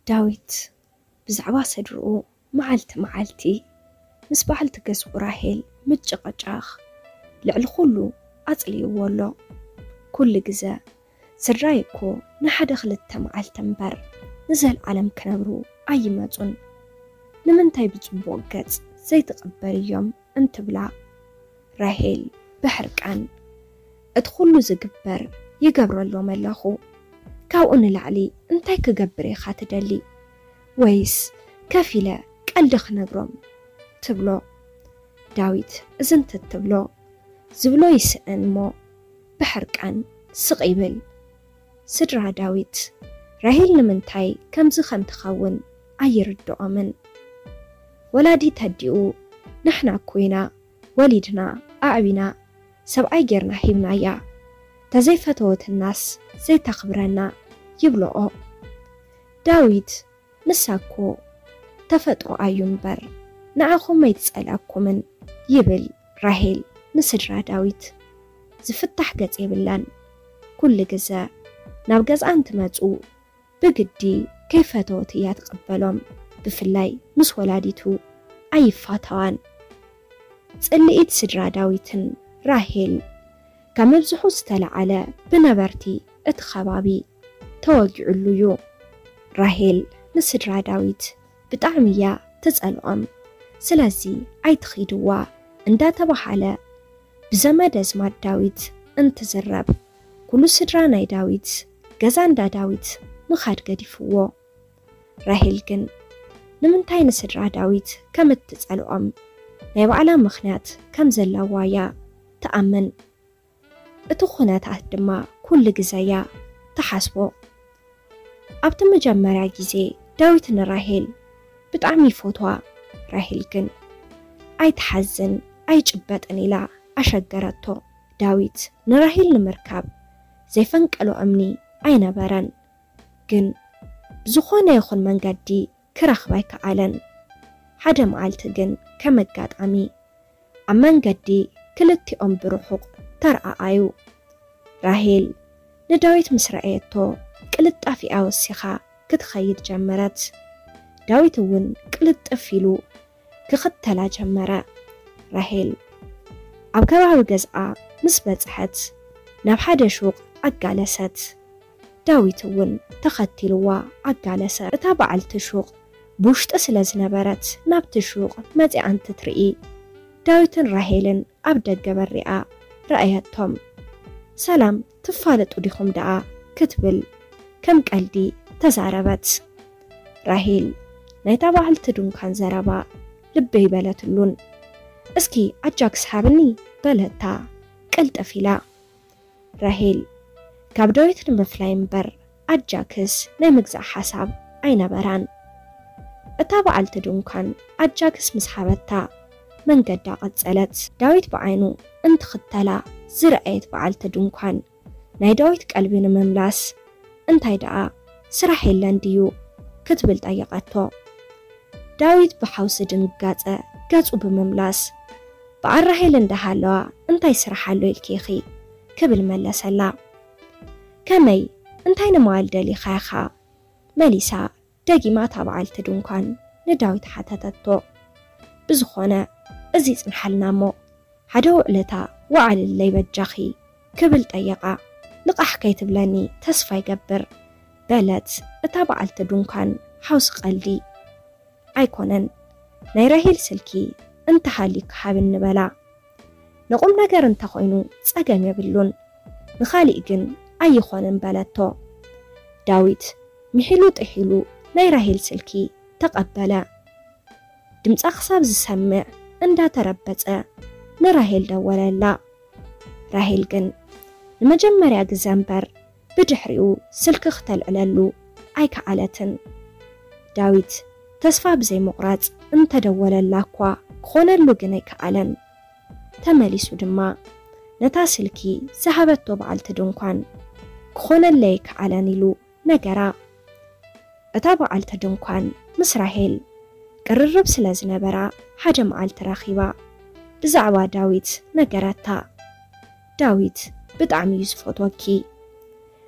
ዳዊት ብዛዕባ ስድርኡ መዓልቲ መዓልቲ ምስ በዓልቲ ገዝኡ ራሄል ምጭቕጫኽ ልዕሊ ኩሉ ኣጽልይዎ ኣሎ። ኩሉ ግዘ፣ "ስድራይ እኮ ንሓደ ክልተ መዓልቲ እምበር ንዘልኣለም ክነብሩ ኣይመጹን። ንምንታይ ብጽቡቕ ገጽ ዘይትቕበልዮም?" እንትብላ፣ ራሄል ብሕርቃን፣ "እቲ ኩሉ ዝግበር ይገብረሎም ኣለኹ። ካብኡ ንላዕሊ እንታይ ክገብር ኢኻ ትደሊ? ወይስ ከፊለ ቀልዲ ክነግሮም?" ትብሎ። ዳዊት እዝንትት ትብሎ፣ ዝብሎ ይስእን እሞ ብሕርቃን ስቕ ይብል። ስድራ ዳዊት ራሄል ንምንታይ ከምዚ ከም ትኸውን ኣይርድኦምን። ወላዲት ኣዲኡ፣ "ንሕና እኮ ኢና ወሊድና ኣዕቢና፣ ሰብኣይ ጌርና ሂብናያ፣ ተዘይፈተወትናስ ዘይተኽብረና?" ይብልኦ። ዳዊት፣ "ንሳ እኮ ተፈጥሮኣ እዩ እምበር ንዓኹም ኣይትጸልኣኩምን" ይብል። ራሄል ንስድራ ዳዊት ዝፍታሕ ገጽ የብላን። ኩሉ ግዘ ናብ ገዝኣ እንትመጹ ብግዲ ከይፈተወት እያ ትቕበሎም። ብፍላይ ምስ ወላዲቱ ኣይፋተዋን። ጽልኢት ስድራ ዳዊትን ራሄል ካብ ምብዝሑ ዝተለዓለ ብነበርቲ እቲ ከባቢ ተወጊዕሉ እዩ። ራሄል ንስድራ ዳዊት ብጣዕሚ እያ ትጸልኦም። ስለዚ "ኣይትኺድዋ" እንዳተባሃለ ብዘመድ ኣዝማድ ዳዊት እንትዝረብ፣ ኩሉ ስድራ ናይ ዳዊት ገዛ እንዳ ዳዊት ምኻድ ገዲፍዎ። ራሄል ግን ንምንታይ ንስድራ ዳዊት ከም እትጸልኦም ናይ ባዕላ ምኽንያት ከም ዘለዋ እያ ትኣምን። እቲ ኩነታት ድማ ኩሉ ግዘ እያ ትሓስቦ። ኣብቲ መጀመርያ ግዜ ዳዊት ንራሄል ብጣዕሚ ይፈትዋ። ራሄል ግን "ኣይትሓዝን፣ ኣይጭበጥን" ኢላ ኣሸገረቶ። ዳዊት ንራሄል ንምርካብ ዘይፈንቀሎ እምኒ ኣይነበረን። ግን ብዝኾነ ይኹን መንገዲ ክረኽባ ኣይከኣለን። ሓደ መዓልቲ ግን ከም ኣጋጣሚ ኣብ መንገዲ ክልቲኦም ብርሑቕ ተረኣኣዩ። ራሄል ንዳዊት ምስ ረኣየቶ ቅልጣፊኣ ወሲኻ ክትኸይድ ጀመረት። ዳዊት እውን ቅልጥፍ ኢሉ ክኽተላ ጀመረ። ራሄል ኣብ ከባቢ ገዝኣ ምስ በጽሐት ናብ ሓደ ሹቕ ኣጋለሰት። ዳዊት እውን ተኸቲልዋ ኣጋለሰ። እታ በዓልቲ ሹቕ ብውሽጢ ስለ ዝነበረት ናብቲ ሹቕ መጺኣ እንትትርኢ፣ ዳዊትን ራሄልን ኣብ ደገ በሪኣ ረኣየቶም። "ሰላም፣ ትፋለጡ ዲኹም ደኣ?" ክትብል ከም ቀልዲ ተዛረበት። ራሄል ናይታ በዓልቲ ድንኳን ዘረባ ልበይ በለትሉን። "እስኪ ኣጃክስ ሃብኒ" በለታ ቅልጥፍ ኢላ። ራሄል ካብ ዳዊት ንምፍላይ እምበር ኣጃክስ ናይ ምግዛእ ሓሳብ ኣይነበራን። እታ በዓልቲ ድንኳን ኣጃክስ ምስ ሃበታ መንገዳ ቀጸለት። ዳዊት ብዓይኑ እንትኽተላ ዝረኣየት በዓልቲ ድንኳን፣ ናይ ዳዊት ቀልቢ ንምምላስ "እንታይ ደኣ ስራሕ የለን ድዩ?" ክትብል ጠየቐቶ። ዳዊት ብሓውሲ ድንጋጸ ገጹ ብምምላስ "በዓል ራሄል እንዳሃለዋ እንታይ ስራሕ ኣሎ ኢልኪ ኢኺ?" ክብል መለሰላ። "ከመይ፣ እንታይ ንምባል ደሊኻ ኢኻ?" መሊሳ ደጊማ እታ በዓልቲ ድንኳን ንዳዊት ሓተተቶ። "ብዝኾነ እዚ ይጽንሓልና እሞ፣ ሓደ ውዕለታ ወዓልለይ በጃኺ" ክብል ጠየቓ። "ልቓሕ ከይትብለኒ ተስፋ ይገብር" በለት እታ በዓልቲ ድንኳን ሓውሲ ቀልዲ። "ኣይኮነን፣ ናይ ራሄል ስልኪ እንተሃልዩኪ ሃብኒ" በላ። "ንቑም ነገር እንተኾይኑ ጸገም የብሉን፣ ንኻሊእ ግን ኣይኾንን" በለቶ። ዳዊት ምሒሉ ጥሒሉ ናይ ራሄል ስልኪ ተቐበለ። ድምጻ ክሳብ ዝሰምዕ እንዳተረበጸ ንራሄል ደወለላ። ራሄል ግን ንመጀመርያ ግዘ እምበር ብድሕሪኡ ስልኪ ክተልዕለሉ ኣይከኣለትን። ዳዊት ተስፋ ብዘይምቑራጽ እንተደወለላ እኳ ክኾነሉ ግን ኣይከኣለን። ተመሊሱ ድማ ነታ ስልኪ ዝሃበቶ በዓልቲ ድንኳን ክኾነለይ ኣይከኣለን ኢሉ ነገራ። እታ በዓልቲ ድንኳን ምስ ራሄል ቅርርብ ስለ ዝነበራ ሓደ መዓልቲ ረኺባ ብዛዕባ ዳዊት ነገረታ። "ዳዊት ብጣዕሚ እዩ ዝፈትወኪ።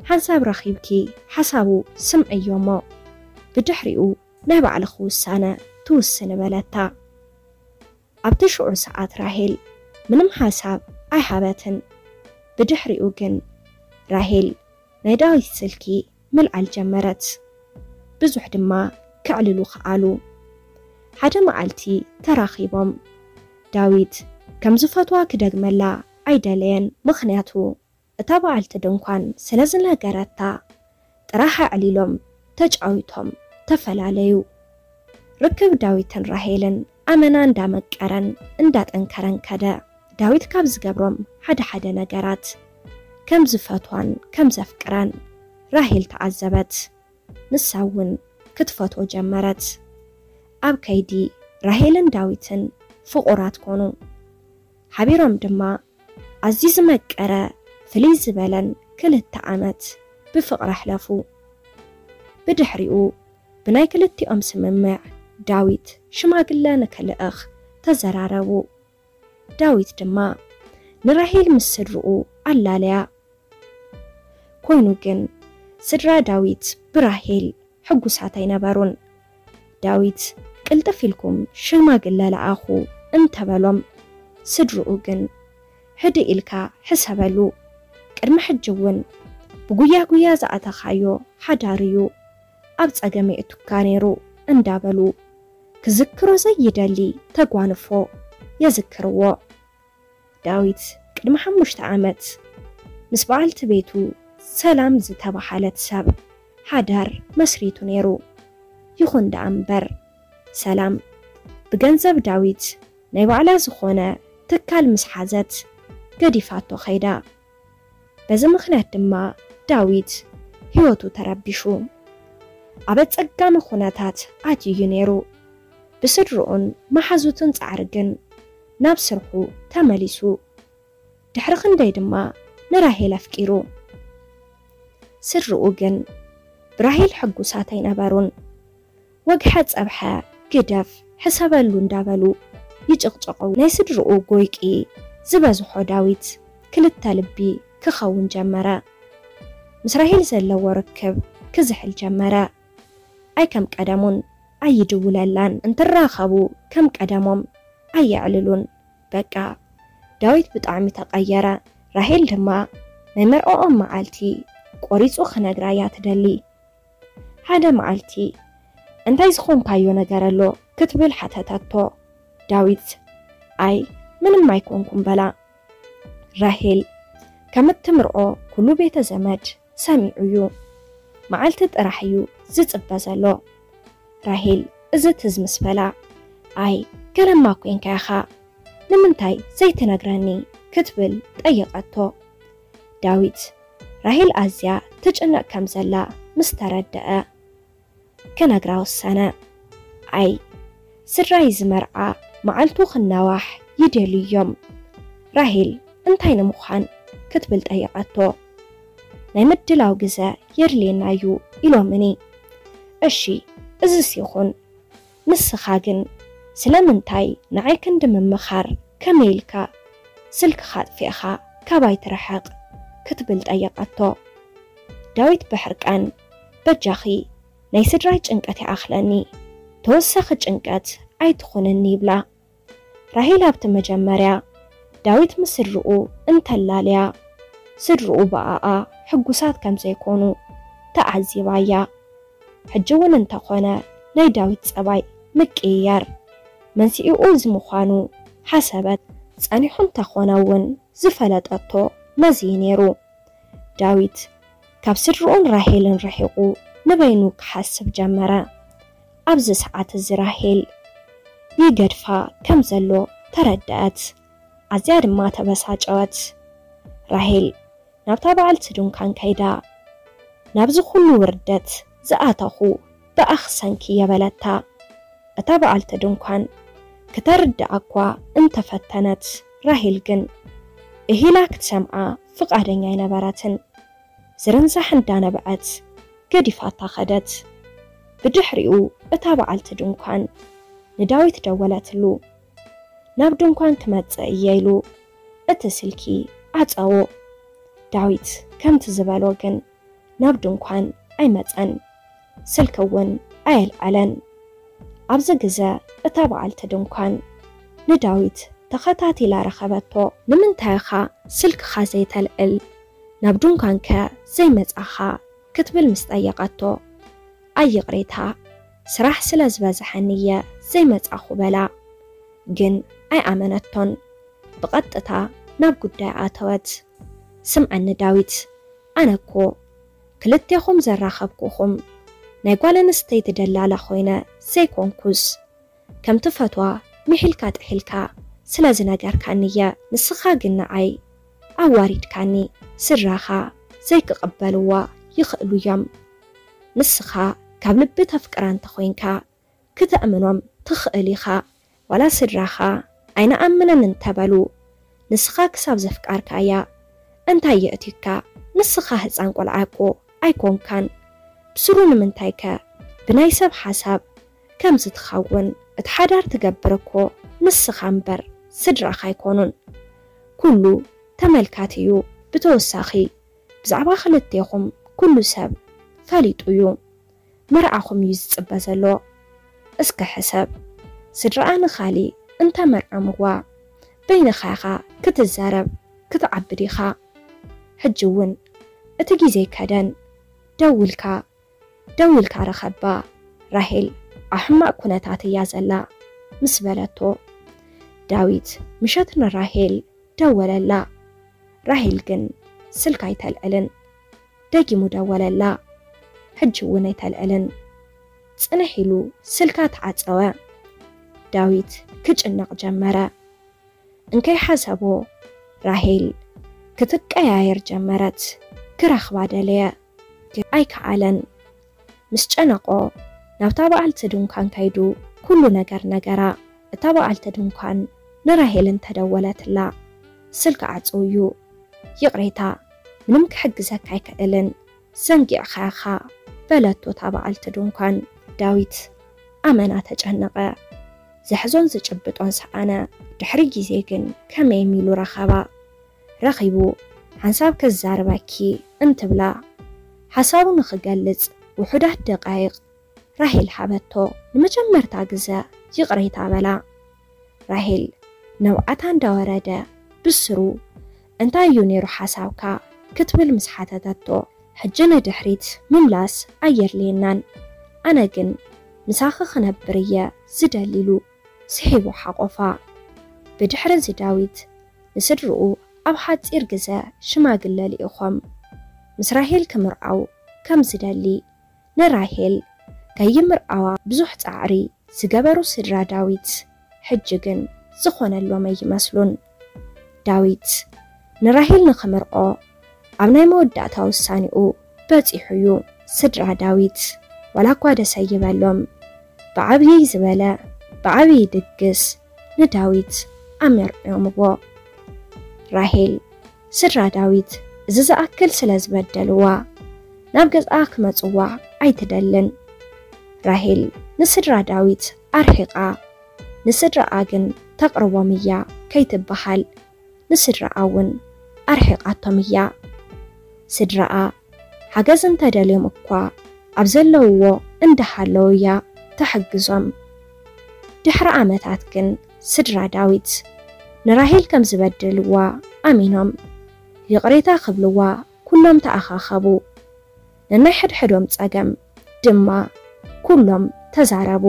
ሓንሳብ ረኺብኪ ሓሳቡ ስምዕዮ እሞ ብድሕሪኡ ናይ ባዕልኺ ውሳነ ትውስኒ በለታ። ኣብቲ ሽዑ ሰዓት ራሄል ምንም ሓሳብ ኣይሃበትን። ብድሕሪኡ ግን ራሄል ናይ ዳዊት ስልኪ ምልዓል ጀመረት። ብዙሕ ድማ ከዕልሉ ከኣሉ። ሓደ መዓልቲ ተራኺቦም። ዳዊት ከም ዝፈትዋ ክደግመላ ኣይደለየን፣ ምኽንያቱ እታ በዓልቲ ድንኳን ስለ ዝነገረታ ጥራሕ ኣዕሊሎም ተጫዊቶም ተፈላለዩ። ርክብ ዳዊትን ራሄልን ኣመና እንዳመቀረን እንዳጠንከረን ከደ። ዳዊት ካብ ዝገብሮም ሓደ ሓደ ነገራት ከም ዝፈትዋን ከም ዘፍቅራን ራሄል ተዓዘበት። ንሳ እውን ክትፈትዎ ጀመረት። ኣብ ከይዲ ራሄልን ዳዊትን ፍቑራት ኮኑ። ሓቢሮም ድማ ኣዝዩ ዝመቀረ ፍልይ ዝበለን ክልተ ዓመት ብፍቕሪ ኣሕለፉ። ብድሕሪኡ ብናይ ክልቲኦም ስምምዕ ዳዊት ሽማግለ ንክልእኽ ተዘራረቡ። ዳዊት ድማ ንራሄል ምስ ስድርኡ ኣላለያ። ኮይኑ ግን ስድራ ዳዊት ብራሄል ሕጉሳት ኣይነበሩን። ዳዊት ቅልጥፍ ኢልኩም ሽማግለ ለኣኹ እንተበሎም፣ ስድርኡ ግን ህድእ ኢልካ ሕሰበሉ፣ ቅድሚ ሕጂ እውን ብጉያ ጉያ ዝኣተኻዮ ሓዳር እዩ ኣብ ጸገም የእቱካ ነይሩ እንዳበሉ ክዝክሮ ዘይደሊ ተጓንፎ የዝክርዎ። ዳዊት ቅድሚ ሓሙሽተ ዓመት ምስ በዓልቲ ቤቱ ሰላም ዝተባሃለት ሰብ ሓዳር መስሪቱ ነይሩ። ይኹን ደኣ እምበር ሰላም ብገንዘብ ዳዊት ናይ ባዕላ ዝኾነ ትካል ምስ ሓዘት ገዲፋቶ ኸይዳ። በዚ ምኽንያት ድማ ዳዊት ህይወቱ ተረቢሹ ኣብ ኣጸጋሚ ኩነታት ኣትዩ ነይሩ። ብስድርኡን መሓዙትን ጻዕሪ ግን ናብ ስርሑ ተመሊሱ። ድሕሪ ክንደይ ድማ ንራሄል ኣፍቂሩ። ስድርኡ ግን ብራሄል ሕጉሳት ኣይነበሩን። ወግሐ ጸብሐ ግደፍ ሕሰበሉ እንዳበሉ ይጭቕጭቐው። ናይ ስድርኡ ጎይቂ ዝበዝሖ ዳዊት ክልተ ልቢ ክኸውን ጀመረ። ምስ ራሄል ዘለዎ ርክብ ክዝሕል ጀመረ። ኣይ ከም ቀደሙን ኣይድውለላን፣ እንትራኸቡ ከም ቀደሞም ኣየዕልሉን። በቃ ዳዊት ብጣዕሚ ተቐየረ። ራሄል ድማ ናይ መርዕኦም መዓልቲ ቆሪጹ ክነግራ እያ ትደሊ። ሓደ መዓልቲ እንታይ ዝኾንካዮ ነገር ኣሎ ክትብል ሓተተቶ። ዳዊት ኣይ ምንም ኣይኮንኩም በላ። ራሄል ከም እትምርዖ ኩሉ ቤተ ዘመድ ሰሚዑ እዩ። መዓልቲ ጥራሕ እዩ ዝጽበ ዘሎ። ራሄል እዚ ትዝ ምስ በላ ኣይ ገለማ ኮንካ ኢኻ ንምንታይ ዘይትነግረኒ ክትብል ጠየቐቶ። ዳዊት ራሄል ኣዝያ ትጭነቕ ከም ዘላ ምስ ተረደአ ክነግራ ወሰነ። ኣይ ስድራይ ዝመርዓ መዓልቱ ክናዋሕ ይደልዩ እዮም። ራሄል እንታይ ንምዃን ክትብል ጠየቐቶ። ናይ ምድላው ግዘ የድልየና እዩ ኢሎምኒ። እሺ እዝስ ይኹን። ንስኻ ግን ስለምንታይ ንዓይ ክንዲ ምምኻር ከመይ ኢልካ ስልክኻ ኣጥፊእኻ ካባይ ትርሕቕ ክትብል ጠየቐቶ። ዳዊት ብሕርቃን በጃኺ ናይ ስድራይ ጭንቀት ይኣኽለኒ፣ ተወሳኺ ጭንቀት ኣይትኹንኒ ይብላ። ራሄል ኣብቲ መጀመርያ ዳዊት ምስ ስድርኡ እንተላለያ ስድርኡ ብኣኣ ሕጉሳት ከም ዘይኮኑ ተዓዚባ እያ። ሕጂ እውን እንተኾነ ናይ ዳዊት ጸባይ ምቅይያር መንስኤኡ እዚ ምዃኑ ሓሰበት። ጸኒሑ እንተኾነ እውን ዝፈለጠቶ መዚ ነይሩ። ዳዊት ካብ ስድርኡን ራሄልን ርሒቑ ንበይኑ ክሓስብ ጀመረ። ኣብዚ ሰዓት እዚ ራሄል ይገድፋ ከም ዘሎ ተረደኣት። ኣዝያ ድማ ተበሳጨወት። ራሄል ናብታ በዓልቲ ድንኳን ከይዳ፣ ናብዚ ኩሉ ውርደት ዝኣተኹ ብኣኺ ሰንኪ እየ በለታ። እታ በዓልቲ ድንኳን ክተርድኣ እኳ እንተፈተነት፣ ራሄል ግን እሂላ ክትሰምዓ ፍቓደኛ ኣይነበረትን። ዝርንዛሕ እንዳነብዐት ገዲፋታ ኸደት። ብድሕሪኡ እታ በዓልቲ ድንኳን ንዳዊት ደወለትሉ። ናብ ድንኳን ክመጽእ እየ ኢሉ እቲ ስልኪ ዓጸዎ። ዳዊት ከምቲ ዝበሎ ግን ናብ ድንኳን ኣይመጸን። ስልኪ እውን ኣየልዓለን። ኣብዚ ግዘ እታ በዓልቲ ድንኳን ንዳዊት ተኸታቲላ ረኸበቶ። ንምንታይ ኢኻ ስልክኻ ዘይተልዕል? ናብ ድንኳንከ ዘይመጻኻ? ክትብል ምስ ጠየቐቶ፣ ኣይ ይቕሬታ፣ ስራሕ ስለ ዝበዝሐኒ እየ ዘይመጻኹ በላ። ግን ኣይኣመነቶን። ብቐጥታ ናብ ጉዳይ ኣተወት። ስምዐኒ ዳዊት፣ ኣነ እኮ ክልቴኹም ዘራኸብኩኹም ናይ ጓል ኣንስተይቲ ደላላ ኮይነ ዘይኮንኩስ፣ ከም ትፈትዋ ምሒልካ ጥሒልካ ስለ ዝነገርካኒ እየ። ንስኻ ግን ንዓይ ኣዋሪድካኒ። ስድራኻ ዘይክቕበልዋ ይኽእሉ እዮም። ንስኻ ካብ ልቢ ተፍቅራ እንተኾይንካ፣ ክተእምኖም ትኽእል ኢኻ። ዋላ ስድራኻ ኣይንኣምንን እንተበሉ፣ ንስኻ ክሳብ ዘፍቃርካያ እንታይ የእትዩካ? ንስኻ ህፃን ቆልዓ እኮ ኣይኮንካን። ብስሩ ንምንታይከ ብናይ ሰብ ሓሳብ ከምዚ ትኸውን? እቲ ሓዳር ትገብር እኮ ንስኻ እምበር ስድራኻ ኣይኮኑን። ኩሉ ተመልካቲ እዩ። ብተወሳኺ ብዛዕባ ክልቴኹም ኩሉ ሰብ ፈሊጡ እዩ። መርዓኹም እዩ ዝጽበ ዘሎ። እስከ ሕሰብ፣ ስድራኣ ንኻሊእ እንተመርዖምዋ በይንኻ ኢኻ ክትዛረብ ክትዓቢ ዲኻ? ሕጂ እውን እቲ ግዜ ከደን። ደውልካ ደዊልካ ረኸባ። ራሄል ኣብ ሕማቕ ኩነታት እያ ዘላ ምስ በለቶ፣ ዳዊት ምሸት ንራሄል ደወለላ። ራሄል ግን ስልካ ኣይተልዕልን። ደጊሙ ደወለላ። ሕጂ እውን ኣይተልዕልን። ጽንሕ ኢሉ ስልካ ተዓጸወ። ዳዊት ክጭነቕ ጀመረ። እንከይሓሰቦ ራሄል ክትቀያየር ጀመረት። ክረኽባ ደለየ፣ ግን ኣይከኣለን። ምስ ጨነቆ ናብታ በዓልቲ ድንኳን ከይዱ ኩሉ ነገር ነገራ። እታ በዓልቲ ድንኳን ንራሄል እንተደወለትላ ስልኪ ዓጽው እዩ። ይቕሬታ፣ ምንም ክሕግዘካ ኣይክእልን፣ ዘንጊዕኻ ኢኻ በለቶ እታ በዓልቲ ድንኳን። ዳዊት ኣመና ተጨነቐ። ዘሕዞን ዝጭብጦን ሰኣነ። ድሕሪ ግዜ ግን ከመይ ኢሉ ረኸባ። ረኺቡ ሓንሳብ ከዛርበኪ እንትብላ ሓሳቡ ንኽገልጽ ውሑዳት ደቃይቕ ራሄል ሃበቶ። ንመጀመርታ ግዘ ይቕሬታ በላ። ራሄል ነብዓታ እንዳወረደ ብስሩ እንታይ እዩ ነይሩ ሓሳብካ ክትብል ምስ ሓተተቶ፣ ሕጂ ንድሕሪት ምምላስ ኣየድልየናን፣ ኣነ ግን ምሳኺ ክነብር እየ ዝደሊ ኢሉ ስሒቡ ሓቆፋ። ብድሕሪ እዚ ዳዊት ንስድርኡ ኣብ ሓጺር ግዘ ሽማግለ ልኢኾም ምስ ራሄል ክምርዓው ከም ዝደሊ ንራሄል ከይምርዓዋ ብዙሕ ጻዕሪ ዝገበሩ ስድራ ዳዊት ሕጂ ግን ዝኾነሎም ኣይመስሉን። ዳዊት ንራሄል ንኽምርዖ ኣብ ናይ መወዳእታ ውሳኔኡ በጺሑ እዩ። ስድራ ዳዊት ዋላ እኳ ደስ ኣይበሎም፣ ብዓብዪ ዝበለ ብዓብዪ ድግስ ንዳዊት ኣመርዕዮምዎ። ራሄል ስድራ ዳዊት እዚ ዝኣክል ስለ ዝበደልዋ ናብ ገዝኣ ክመጽዋ ኣይትደልን። ራሄል ንስድራ ዳዊት ኣርሒቓ፣ ንስድራኣ ግን ተቕርቦም እያ ከይትበሃል፣ ንስድራኣ እውን ኣርሒቓቶም እያ። ስድራኣ ሓገዝ እንተደልዮም እኳ ኣብ ዘለውዎ እንዳሃለዉ እያ ተሕግዞም። ድሕሪ ዓመታት ግን ስድራ ዳዊት ንራሄል ከም ዝበደልዋ ኣሚኖም ይቕሬታ ክብልዋ ኩሎም ተኣኻኸቡ። ነናይ ሕድሕዶም ጸገም ድማ ኩሎም ተዛረቡ።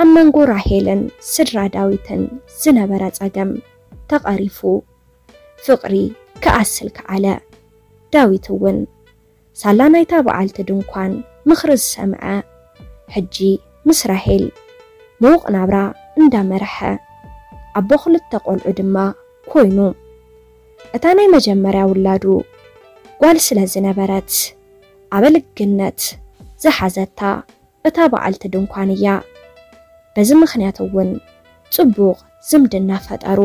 ኣብ መንጎ ራሄልን ስድራ ዳዊትን ዝነበረ ጸገም ተቐሪፉ፣ ፍቕሪ ክኣስል ከኣለ። ዳዊት እውን ሳላ ናይታ በዓልቲ ድንኳን ምኽሪ ዝሰምዐ፣ ሕጂ ምስ ራሄል ምዉቕ ናብራ እንዳመርሐ፣ ኣቦ ክልተ ቆልዑ ድማ ኮይኑ። እታ ናይ መጀመርያ ውላዱ ጓል ስለ ዝነበረት፣ ኣበልግነት ዝሓዘታ እታ በዓልቲ ድንኳን እያ። በዚ ምኽንያት እውን ጽቡቕ ዝምድና ፈጠሩ።